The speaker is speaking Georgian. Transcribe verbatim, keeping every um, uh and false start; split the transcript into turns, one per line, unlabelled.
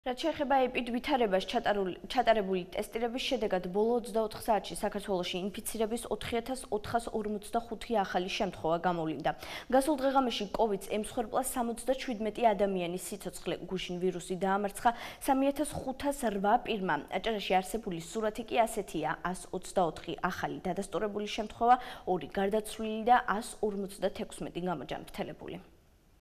რაც შეეხება ეპიდ ვითარებას ჩატარებული ტესტირების შედეგად ბოლო ოცდაოთხ საათში საქართველოში ინფიცირების ოთხი ათას ოთხას ორმოცდახუთი ახალი შემთხვევა გამოვლინდა. Გასულ დღეღამეში კოვიდს ემსხვერპლა სამოცდაშვიდმეტი ადამიანის სიცოცხლე, გუშინ ვირუსი დაამარცხა სამი ათას ხუთას რვა პირმა. აჭარაში არსებული სურათი კი ასეთია: ას ოცდაოთხი ახალი დადასტურებული შემთხვევა, ორი გარდაცვლილი და ას ორმოცდათექვსმეტი გამოჯანმრთელებული.